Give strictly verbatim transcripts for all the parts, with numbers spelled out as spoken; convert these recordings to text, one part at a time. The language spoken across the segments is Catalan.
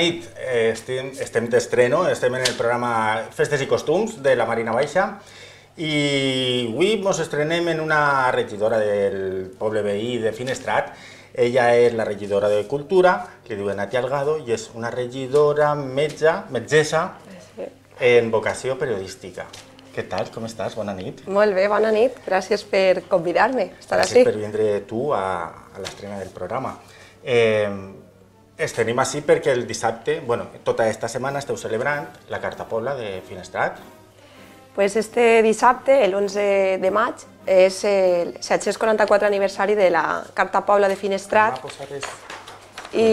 nit, estem, estem d'estreno, estem en el programa Festes i Costums de la Marina Baixa i avui ens estrenem en una regidora del poble veí de Finestrat. Ella és la regidora de Cultura, que diu Nati Algado, i és una regidora metge, metgessa en vocació periodística. Què tal? Com estàs? Bona nit. Molt bé, bona nit. Gràcies per convidar-me a estar així. Gràcies així. per vindre tu a, a l'estrena del programa. Eh, Estem així perquè el dissabte, bueno, tota aquesta setmana esteu celebrant la Carta Pobla de Finestrat. Pues este dissabte, l'onze de maig, és el set-cents quaranta-quatre aniversari de la Carta Pobla de Finestrat i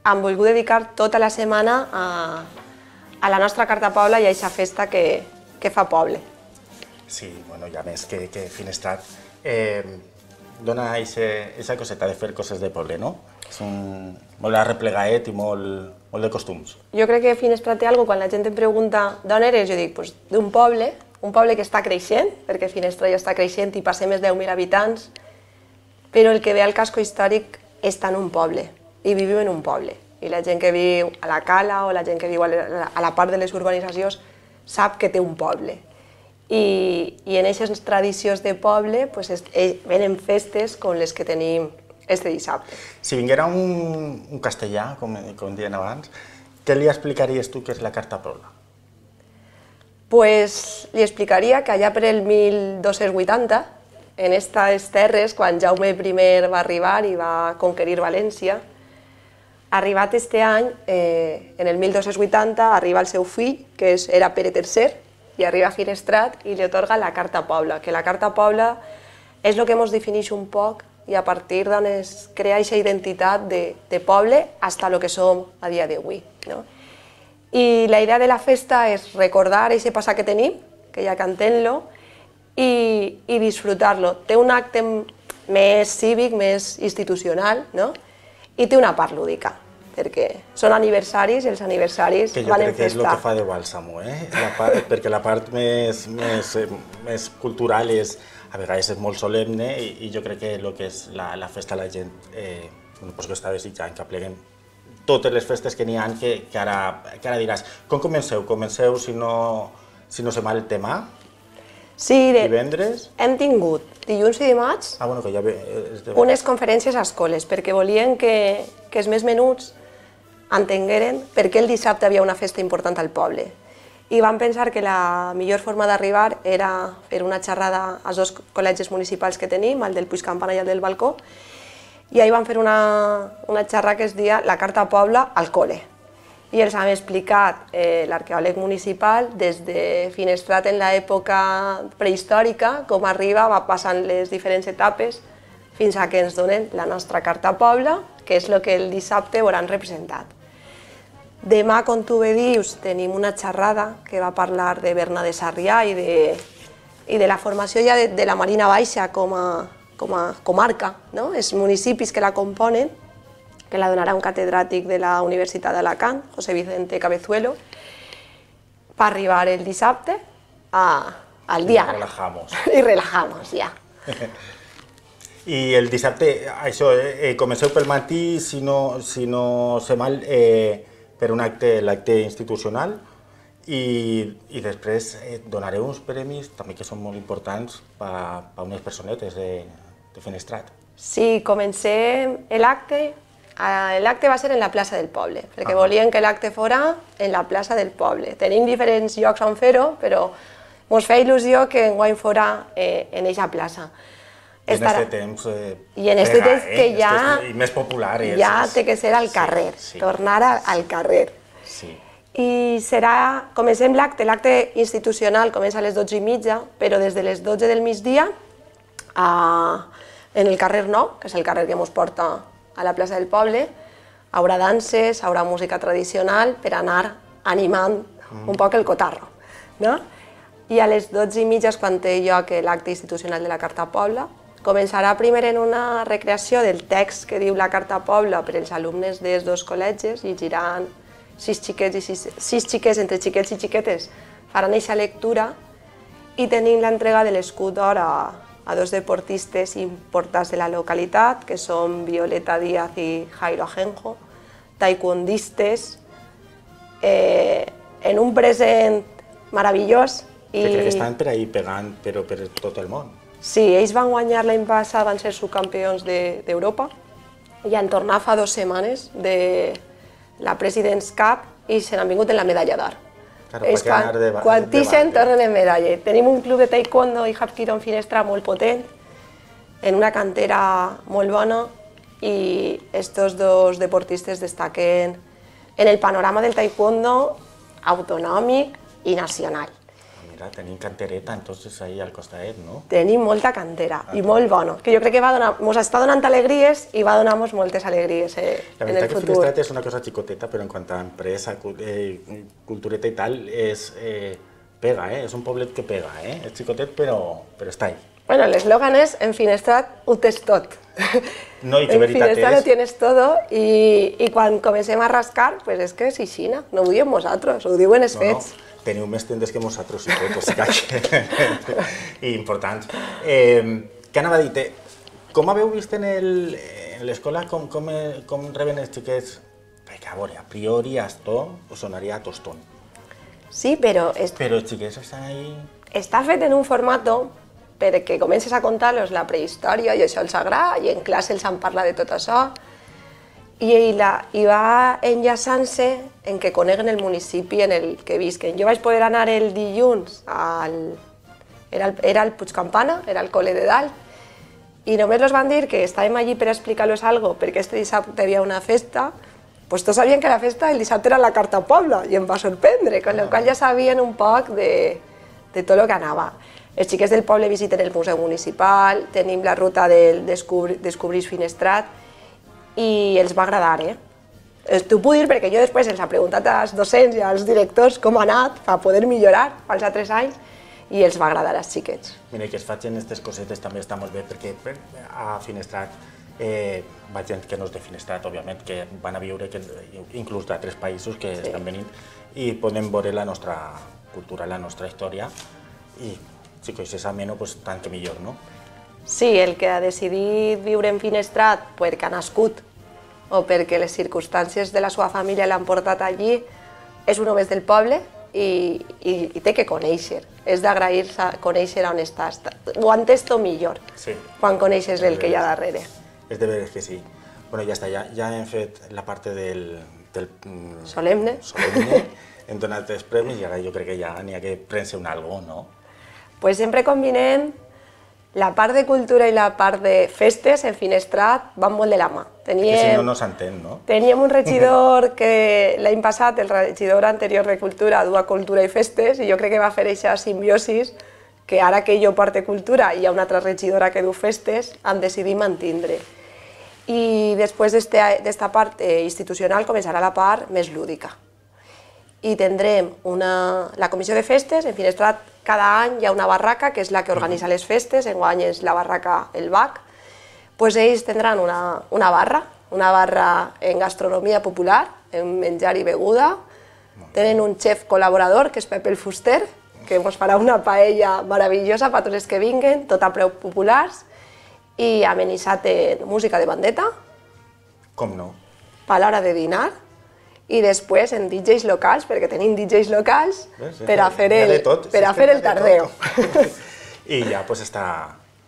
hem volgut dedicar tota la setmana a, a la nostra Carta Pobla i a aquesta festa que, que fa poble. Sí, bueno, i a més que, que Finestrat eh, dona aquesta coseta de fer coses de poble, no? És un, molt arreplegaet i molt, molt de costums. Jo crec que Finestrat té alguna cosa, quan la gent em pregunta d'on eres, jo dic, pues, d'un poble, un poble que està creixent, perquè Finestrat ja està creixent i passem més de deu mil habitants, però el que ve al casco històric està en un poble, i vivim en un poble. I la gent que viu a la cala o la gent que viu a la, a la part de les urbanitzacions sap que té un poble. I, i en aquestes tradicions de poble pues, es, venen festes com les que tenim este dissabte. Si vinguera un, un castellà, com, com dient abans, què li explicaries tu què és la Carta Pobla? Pues li explicaria que allà per el mil dos-cents vuitanta, en aquestes terres, quan Jaume primer va arribar i va conquerir València, arribat este any, eh, en el mil dos-cents vuitanta, arriba el seu fill, que és, era Pere tercer, i arriba a Finestrat i li atorga la Carta Pobla, que la Carta Pobla és el que ens defineix un poc i a partir d'on es crea aquesta identitat de, de poble fins a lo que som a dia d'avui. No? I la idea de la festa és recordar aquest passat que tenim, que ja cantem-lo, i, i disfrutar-lo. Té un acte més cívic, més institucional, no? I té una part lúdica, perquè són aniversaris i els aniversaris van en festa. Que jo crec que és el que fa de bàlsamo, eh? La part, perquè la part més, més, més cultural és, a vegades és molt solemne i, i jo crec que el que és la, la festa la gent eh, pues que està desitjant, que apleguem totes les festes que n'hi ha, que, que, ara, que ara diràs. Com comenceu? Comenceu, si no, si no sé mal, el tema? Sí, de, divendres? Hem tingut dilluns i dimarts ah, bueno, que ja ve, de... unes conferències a escoles, perquè volien que, que els més menuts entengueren per què el dissabte havia una festa important al poble. I vam pensar que la millor forma d'arribar era fer una xerrada als dos col·legis municipals que tenim, el del Puigcampana i el del Balcó, i ahir vam fer una, una xerrada que es deia La Carta Pobla al col·le. I els hem explicat eh, l'arqueòleg municipal des de Finestrat en l'època prehistòrica, com arriba, va passant les diferents etapes, fins a que ens donen la nostra Carta Pobla, que és el que el dissabte hauran representat. Demà, com tu bé dius, tenim una xerrada que va parlar de Berna de Sarrià i de, i de la formació ja de, de la Marina Baixa com a, com a comarca, no? Els municipis que la componen, que la donarà un catedràtic de la Universitat d'Alacant, José Vicente Cabezuelo, per arribar el dissabte a, al dia. I relajamos. I relajamos, ja. I el dissabte, això, eh, comenceu pel matí, si no, si no sé mal, eh, per un acte, l'acte institucional, i, i després eh, donareu uns premis també que són molt importants per a unes personetes de, de Finestrat. Sí, comencem l'acte, l'acte va ser en la plaça del poble, perquè ah. volien que l'acte fora en la plaça del poble. Tenim diferents llocs on fer-ho, però ens feia il·lusió que enguany fora eh, en aquesta plaça. I en aquest temps, eh, I en aquest temps que eh, ja, i més popular, ja té que ser al carrer, sí, sí. tornar al carrer. Sí. I serà, comencem l'acte, l'acte institucional comença a les dotze i mitja, però des de les dotze del migdia a, en el carrer Nou, que és el carrer que ens porta a la plaça del poble, haurà danses, haurà música tradicional per anar animant mm. un poc el cotarro. No? I a les dotze i mitja és quan té lloc l'acte institucional de la Carta Pobla. Començarà primer en una recreació del text que diu la Carta Pobla per als alumnes dels dos col·legis, llegiran sis xiquets i sis, sis xiquets, entre xiquets i xiquetes, faran aquesta lectura i tenim l'entrega de l'escut d'or a, a dos deportistes importants de la localitat, que són Violeta Díaz i Jairo Ajenjo, taekwondistes eh, en un present meravellós. I... Que estan per ahí pegant, però per tot el món. Sí, ells van guanyar l'any passat, van ser subcampions d'Europa, i han tornat fa dues setmanes de la President's Cup i se n'han vingut en la medalla d'or. Claro, ells quan, de, quan tixen tornen en medalla. Tenim un club de taekwondo i hapkido en Finestrat molt potent, en una cantera molt bona, i estos dos deportistes destaquen en el panorama del taekwondo autonòmic i nacional. Mira, tenim cantereta, entonces, ahí al costadet, no? Tenim molta cantera, ah, i molt bona, que jo crec que va donar, mos està donant alegries i va donar-nos moltes alegries eh, en el futur. La veritat que Finestrat és una cosa xicoteta, però en quant a empresa, eh, cultureta i tal, és, eh, pega, eh? És un poblet que pega, eh? És xicotet, però, però està ahí. Bueno, l'eslògan és, en Finestrat ho tens tot. No, i que veritat és... En Finestrat ho tienes todo, i, i quan comencem a rascar, pues és que és aixina, no ho diem nosaltres, ho diuen els fets. No, no. Teniu més tendes que nosaltres i tot, o sigui que... I importants. Eh, què anava a dir? Com haveu vist en l'escola, com, com, com reben els xiquets? Perquè, a veure, a priori, esto us sonaria a tostón. Sí, però... És... Però els xiquets estan ahí... Està fet en un formato perquè comences a contar-los la prehistòria i això els agrada, i en classe els han parlat de tot això, i, la, i va enllaçant-se en que coneguen el municipi en el que visquen. Jo vaig poder anar el dilluns, al, era, el, era el Puigcampana, era el col·le de dalt, i només els van dir que estàvem allí per explicar-los alguna cosa, perquè este dissabte hi havia una festa, pues tots sabien que la festa el dissabte era la Carta Pobla, i em va sorprendre, con la qual ja sabien un poc de, de tot el que anava. Els xiquets del poble visiten el Museu Municipal, tenim la ruta del Descobri, Descobrís Finestrat, i els va agradar, eh? T'ho puc dir perquè jo després els he preguntat als docents i als directors com ha anat per poder millorar els altres anys, i els va agradar als xiquets. Mira, que es facin aquestes cosetes també està molt bé, perquè a Finestrat eh, va gent que no és de Finestrat, òbviament, que van a viure, que, inclús d'altres països que sí. Estan venint, i podem veure la nostra cultura, la nostra història, i si coneixes ameno, pues, tant que millor, no? Sí, el que ha decidit viure en Finestrat perquè ha nascut o perquè les circumstàncies de la seva família l'han portat allí, és un home del poble i, i, i té que conèixer. És d'agrair-se conèixer on estàs. Ho entès tot millor sí. Quan coneixes el que hi ha darrere. És de veres que sí. Bueno, ja està, ja, ja hem fet la part del... del solemne. Solemne, hem donat els premis i ara jo crec que ja n'hi ha que prendre un algo, no? Pues sempre combinem la part de cultura i la part de festes en Finestrat van molt de la mà. Teníem, que si no, no s'entén, no? Teníem un regidor que l'any passat, el regidor anterior de Cultura, du a Cultura i Festes, i jo crec que va fer aquesta simbiosis que ara que jo porto Cultura i hi ha una altra regidora que du Festes, han decidit mantindre. I després d'esta part institucional començarà la part més lúdica. I tindrem una, la comissió de festes, en Finestrat cada any hi ha una barraca que és la que organitza les festes, enguany és la barraca El Bac, pues ells tindran una, una barra, una barra en gastronomia popular, en menjar i beguda, tenen un xef col·laborador que és Pepe el Fuster, que ens farà una paella meravellosa per tots els que vinguen, tot a preus populars, i amenitzat en música de bandeta. Com no? Per l'hora de dinar. I després en D Js locals, perquè tenim D Js locals per a fer el, per a fer el tardeo. I ja pues està,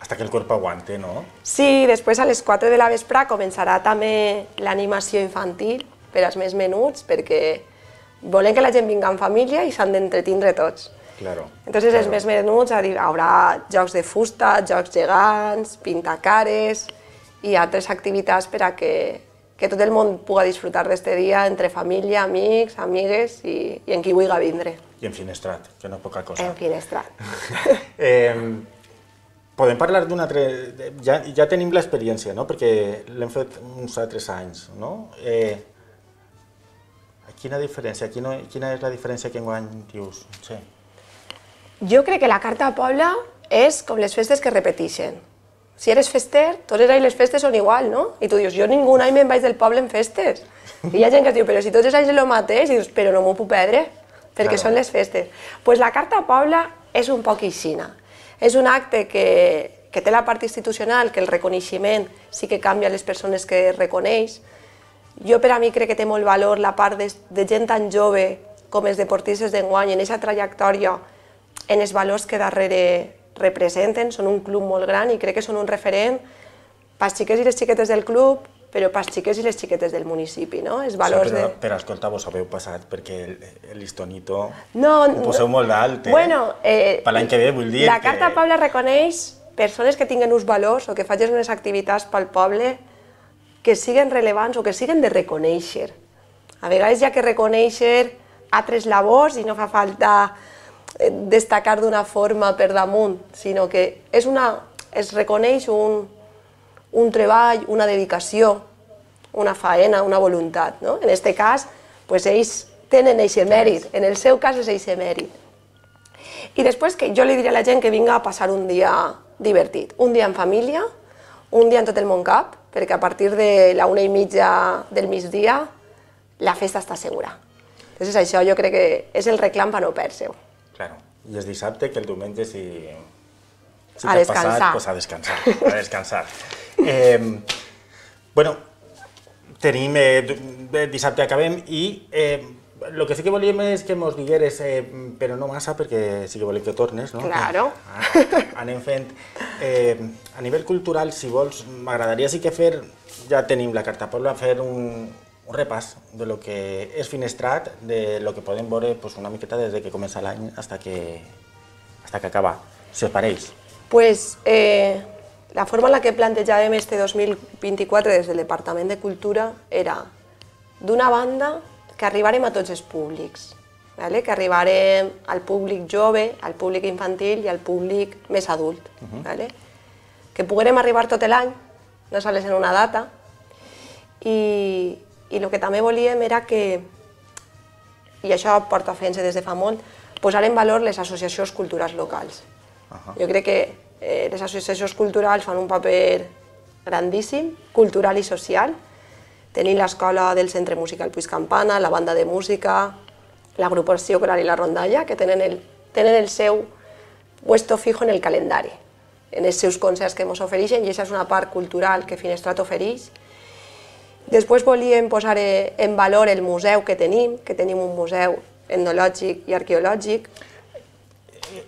hasta que el cuerpo aguante, no? Sí, després a les quatre de la vesprà començarà també l'animació infantil per als més menuts, perquè volen que la gent vinga en família i s'han d'entretindre tots. Claro. Entonces els més menuts hi haurà jocs de fusta, jocs gegants, pintacares i altres activitats per a que que tot el món pugui disfrutar d'aquest dia entre família, amics, amigues i, i en qui vulgui vindre. I en Finestrat, que no és poca cosa. En Finestrat. eh, podem parlar d'un altre... Ja, ja tenim l'experiència, no? Perquè l'hem fet uns altres anys, no? Eh, quina diferència, quina, quina és la diferència que enguany dius? Sí. Jo crec que la Carta Pobla és com les festes que repeteixen. Si eres fester, tots els anys les festes són igual, no? I tu dius, jo ningú any me'n vaig del poble en festes. I hi ha gent que diu, però si tots els anys és el mateix, i dius, però no m'ho puc perdre, perquè són les festes. Doncs la Carta Pobla és un poc aixina. És un acte que, que té la part institucional, que el reconeixement sí que canvia les persones que reconeix. Jo per a mi crec que té molt valor la part de, de gent tan jove com els deportistes d'enguany, en aquesta trajectòria, en els valors que darrere representen, són un club molt gran i crec que són un referent pels xiquets i les xiquetes del club, però pels xiquets i les xiquetes del municipi, no? Els valors sí, però, de... però escolta, vos haveu passat perquè el, el listonito no, ho poseu molt d'alt, eh? Bueno, eh, per l'any que ve, vull dir la que... Carta Poble reconeix persones que tinguen uns valors o que facin unes activitats pel poble que siguen rellevants o que siguen de reconèixer. A vegades hi ha que reconèixer altres labors i no fa falta destacar d'una forma per damunt, sinó que és una, es reconeix un, un treball, una dedicació, una faena, una voluntat. No? En aquest cas, pues, ells tenen aquest mèrit, en el seu cas és aquest mèrit. I després que jo li diré a la gent que vinga a passar un dia divertit, un dia en família, un dia en tot el Montcap, perquè a partir de la una i mitja del migdia la festa està segura. Entonces això jo crec que és el reclam per no perdre-ho. Claro, i és dissabte, que el diumenge si... si a descansar. Passat, pues a descansar, a descansar. eh, bueno, tenim, eh, dissabte acabem i eh, el que sí que volíem és que mos digueres, eh, però no massa, perquè sí que volem que tornes, no? Claro. Ah, anem fent. Eh, a nivell cultural, si vols, m'agradaria sí que fer, ja tenim la Carta Poble, fer un, un repàs de lo que és Finestrat, de lo que podem veure pues, una miqueta des de que comença l'any hasta que, hasta que acaba, si us pareix. Pues, eh, la forma en la que plantejàvem este dos mil vint-i-quatre des del Departament de Cultura era, d'una banda, que arribarem a tots els públics, vale? Que arribarem al públic jove, al públic infantil i al públic més adult. Uh-huh. Vale? Que puguem arribar tot l'any, no sols en una data, i, i el que també volíem era que, i això porta fent-se des de fa molt, posar en valor les associacions culturals locals. Uh-huh. Jo crec que eh, les associacions culturals fan un paper grandíssim, cultural i social. Tenim l'escola del Centre Musical Puig Campana, la banda de música, l'agrupació coral i la rondalla, que tenen el, tenen el seu puesto fijo en el calendari, en els seus concerts que ens ofereixen, i aquesta és una part cultural que Finestrat ofereix. Després volíem posar en valor el museu que tenim, que tenim un museu etnològic i arqueològic.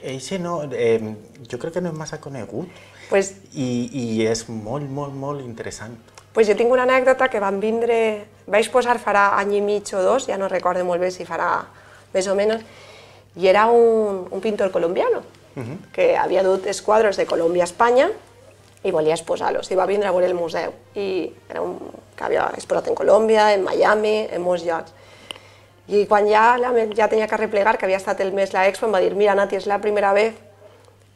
Eixe no, eh, jo crec que no és massa conegut, pues, i, i és molt, molt, molt interessant. Pues jo tinc una anècdota que van vindre, vaig posar farà any i mig o dos, ja no recordo molt bé si farà més o menys, i era un, un pintor colombiano, uh-huh. que havia dut els quadres de Colòmbia a Espanya i volia exposar-los, i va vindre a veure el museu, i era un que havia exposat en Colòmbia, en Miami, en molts llocs. I quan ja, ja tenia que replegar, que havia estat el mes la expo, em va dir, mira Nati, és la primera vez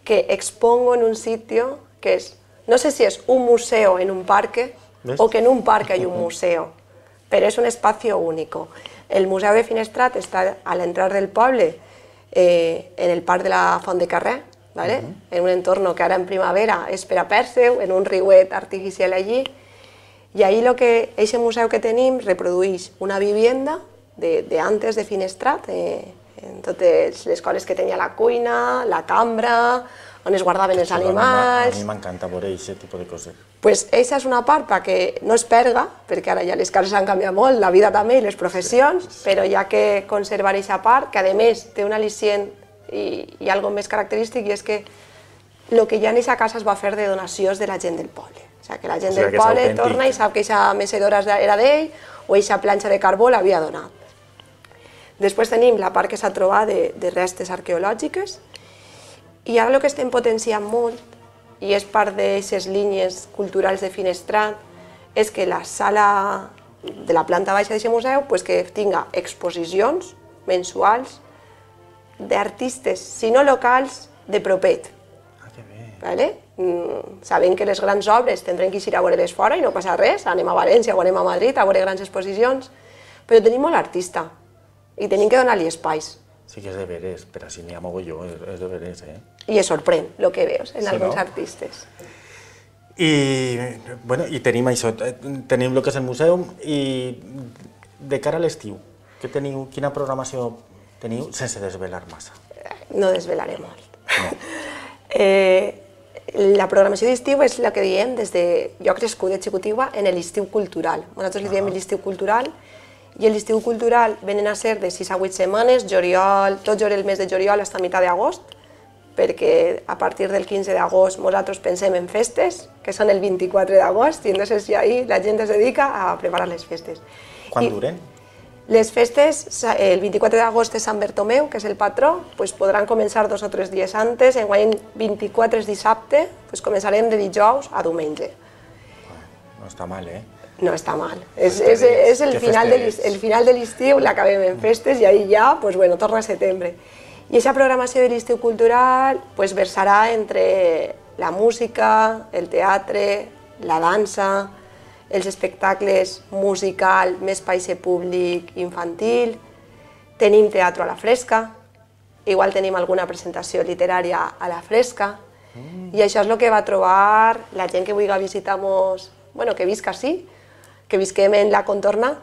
que expongo en un sitio que és, no sé si és un museo en un parque, ¿ves? O que en un parque hay un museo, pero es un espacio único. El Museu de Finestrat está al entrar del poble, eh, en el parc de la Font de Carrer, ¿vale? Uh-huh. En un entorno que ara en primavera és per a pèrseu, en un riuet artificial allí, i ahí lo que ese museu que tenim reprodueix una vivienda de, de antes de Finestrat, eh, en totes les coses que tenia la cuina, la cambra, on es guardaven els animals... A mi m'encanta veure aquest tipus de coses. Pues aquesta és una part perquè no es perga, perquè ara ja les cases han canviat molt, la vida també i les professions, sí, sí. Però hi ha que conservar aquesta part, que a més té un al·licient i, i algo més característic, i és que el que hi ha en aquesta casa es va fer de donacions de la gent del poble. O sigui, que la gent o sigui, del poble torna i sap que aquesta mecedora era d'ell o aquesta planxa de carbó l'havia donat. Després tenim la part que s'ha trobat de, de restes arqueològiques, i ara el que estem potenciant molt, i és part d'aquestes línies culturals de Finestrat, és que la sala de la planta baixa d'aquest museu pues, que tinga exposicions mensuals d'artistes, si no locals, de propet. Ah, que bé. Vale? Mm, sabem que les grans obres tindrem que ir a veure-les fora i no passa res, anem a València o anem a Madrid a veure grans exposicions, però tenim molt artista i tenim que donar-li espais. Sí que és de veres, però si n'hi ha mogolló, és de veres, eh? I es sorprèn el que veus en sí, alguns no? artistes. I, bueno, i tenim això, tenim el que és el museu, i de cara a l'estiu, què teniu, quina programació teniu, sense desvelar massa? No desvelaré molt. No. eh, La programació d'estiu és el que diem des de... Jo he crescut de xicotigua en l'estiu cultural. Nosaltres li diem l'estiu cultural i l'estiu cultural venen a ser de sis a vuit setmanes, juliol, tot el mes de juliol fins a meitat d'agost, perquè a partir del quinze d'agost nosaltres pensem en festes, que són el vint-i-quatre d'agost, i entonces ahí la gent es dedica a preparar les festes. Quan duren? Les festes, el vint-i-quatre d'agost és Sant Bartomeu, que és el patró, doncs podran començar dos o tres dies antes, enguany vint-i-quatre és dissabte, doncs començarem de dijous a diumenge. No està mal, eh? No està mal. És, és, és el, final de el final de l'estiu, l'acabem en festes i ahí ja, doncs bueno, torna a setembre. I aquesta programació de l'estiu cultural doncs versarà entre la música, el teatre, la dansa, els espectacles musical, més paise públic, infantil, tenim teatre a la fresca, igual tenim alguna presentació literària a la fresca, mm. i això és el que va trobar la gent que vulgui visitar-nos, bueno, que visca així, que visquem en la contorna,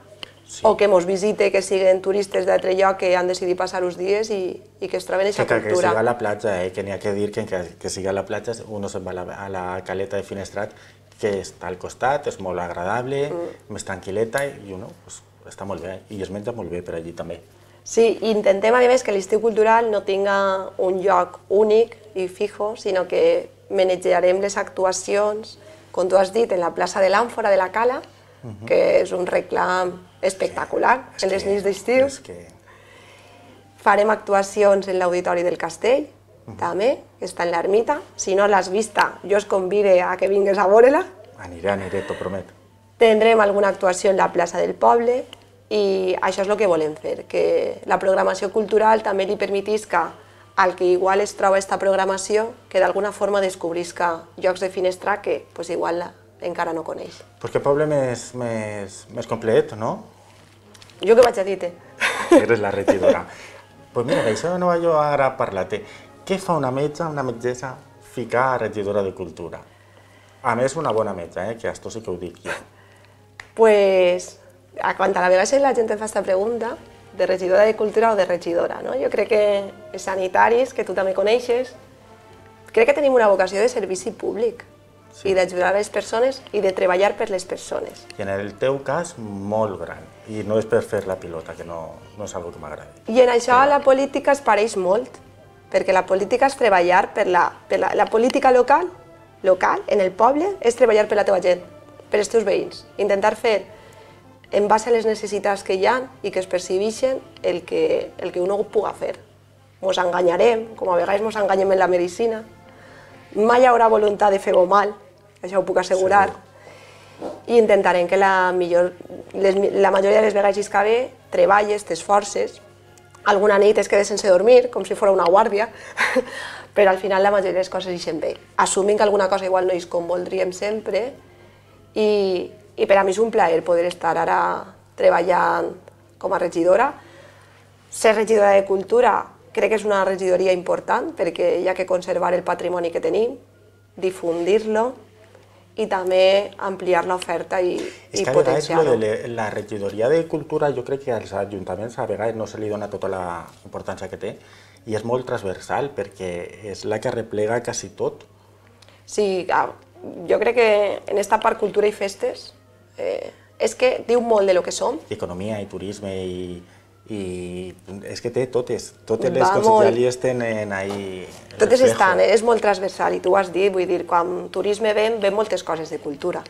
sí. o que ens visite, que siguin turistes d'altre lloc que han decidit passar uns dies i, i que es troben aquesta que, cultura. Que siga a la platja, eh? Que n'hi ha que dir que, que, que siga a la platja, uno se'n va a la, a la caleta de Finestrat, que està al costat, és molt agradable, mm. més tranquil·leta i uno pues, està molt bé i es menja molt bé per allí també. Sí, intentem a més que l'estiu cultural no tinga un lloc únic i fijo, sinó que manejarem les actuacions, com tu has dit, en la plaça de l'Àmfora de la Cala, uh-huh. que és un reclam espectacular sí, en les nits d'estiu. Que... Farem actuacions en l'Auditori del Castell, Uh-huh. també, que està en l'ermita. Si no l'has vista, jo es convide a que vingues a veure-la. Aniré, aniré, t'ho promet. Tindrem alguna actuació en la plaça del poble i això és el que volem fer, que la programació cultural també li permetisca al que igual es troba aquesta programació que d'alguna forma descobrisca llocs de Finestrat que pues, igual encara no coneix. Pues que poble més, més, més complet, no? Jo que vaig a dir-te. Eres la regidora. Pues mira, d'això no vaig jo ara a parlar-te. Què fa una metge, una metgessa, ficar a regidora de cultura? A més, una bona metge, eh? Que esto sí que ho dic jo. Pues, quan a la vegada la gent em fa aquesta pregunta, de regidora de cultura o de regidora, no? Jo crec que els sanitaris, que tu també coneixes, crec que tenim una vocació de servici públic sí. i d'ajudar a les persones i de treballar per les persones. I en el teu cas, molt gran. I no és per fer la pilota, que no, no és una cosa que m'agradi. I en això Però... la política es pareix molt. Perquè la política és treballar per la, per la, la política local, local, en el poble, és treballar per la teva gent, per els teus veïns. Intentar fer, en base a les necessitats que hi ha i que es percibeixen, el que, el que uno puga fer. Ens enganyarem, com a vegades ens enganyem en la medicina. Mai hi haurà voluntat de fer-ho mal, això ho puc assegurar. Sí. I intentarem que la, millor, les, la majoria de les vegades que ve treballes, t'esforces. Alguna nit es queda sense dormir, com si fos una guàrdia, però al final la majoria de les coses ixen bé. Assumint que alguna cosa igual no és com voldríem sempre i, i per a mi és un plaer poder estar ara treballant com a regidora. Ser regidora de cultura crec que és una regidoria important perquè hi ha que conservar el patrimoni que tenim, difundir-lo i també ampliar l'oferta i, i potenciar-ho. És que la regidoria de cultura jo crec que als ajuntaments a vegades no se li dona tota la importància que té i és molt transversal perquè és la que replega quasi tot. Sí, jo crec que en aquesta part cultura i festes eh, és que diu molt de lo que som. I economia i turisme i... i és que té totes, totes les conselleries tenen ahí... Totes estan, és molt transversal i tu ho has dit, vull dir, quan turisme ven, ven moltes coses de cultura.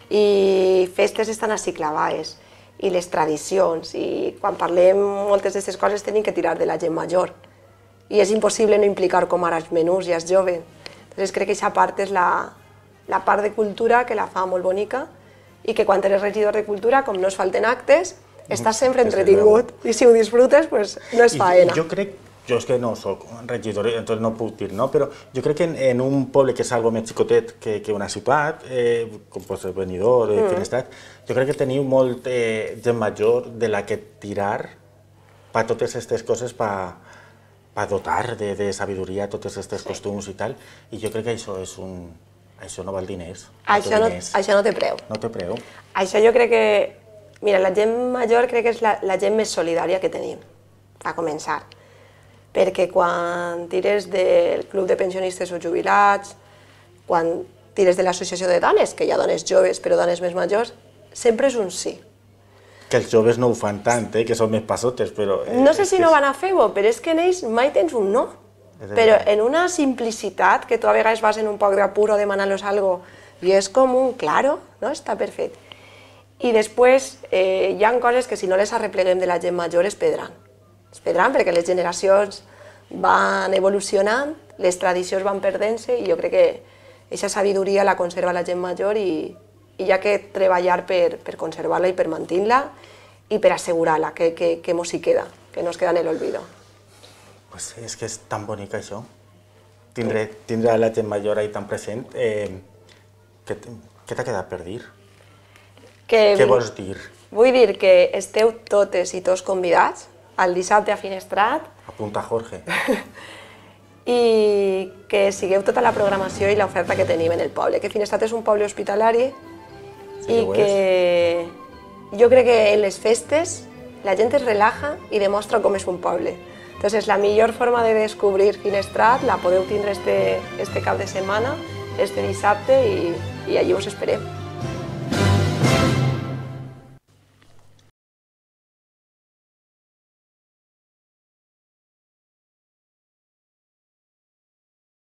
I festes estan així clavades, i les tradicions, i quan parlem moltes d'aquestes coses tenim que tirar de la gent major. I és impossible no implicar com ara els menús i els joves. Llavors crec que aquesta part és la, la part de cultura que la fa molt bonica i que quan eres regidor de cultura, com no es falten actes, estàs sempre entretingut i si ho disfrutes, pues, no és faena. Jo crec, jo és que no soc regidor, entonces no puc dir, no? Però jo crec que en, en un poble que és algo més xicotet que, que una ciutat, eh, com pot ser Benidorm, mm. Finestrat, jo crec que teniu molt eh, gent major de la que tirar per totes aquestes coses, per pa dotar de, de sabidoria totes aquests sí. costums i tal, i jo crec que això és un... Això no val diners. Això no, això no té preu. No té preu. Això jo crec que... Mira, la gent major crec que és la, la gent més solidària que tenim, a començar. Perquè quan tires del club de pensionistes o jubilats, quan tires de l'associació de dones, que hi ha dones joves però dones més majors, sempre és un sí. Que els joves no ho fan tant, eh? Que són més passotes, però... Eh, no sé si no van a fer-ho, però és que en ells mai tens un no. Però en una simplicitat, que tu a vegades vas en un poc d'apur o demanant-los algo, i és com un claro, no? Està perfecte. I després eh, hi ha coses que si no les arrepleguem de la gent major es perdran. Es perdran perquè les generacions van evolucionant, les tradicions van perdent-se i jo crec que aquesta sabidoria la conserva la gent major i, i hi ha que treballar per, per conservar-la i per mantenir-la i per assegurar-la que, que, que mos hi queda, que no es queda en l'olvido. Pues és que és tan bonic això, tindre, tindre la gent major ahí tan present. Eh, què t'ha quedat per dir? Que, Què vols dir? Vull dir que esteu totes i tots convidats al dissabte a Finestrat. Apunta Jorge. I que sigueu tota la programació i l'oferta que tenim en el poble, que Finestrat és un poble hospitalari sí, i que jo crec que en les festes la gent es relaja i demostra com és un poble. Entonces, la millor forma de descobrir Finestrat la podeu tindre este, este cap de setmana, este dissabte, i, i allí us esperem.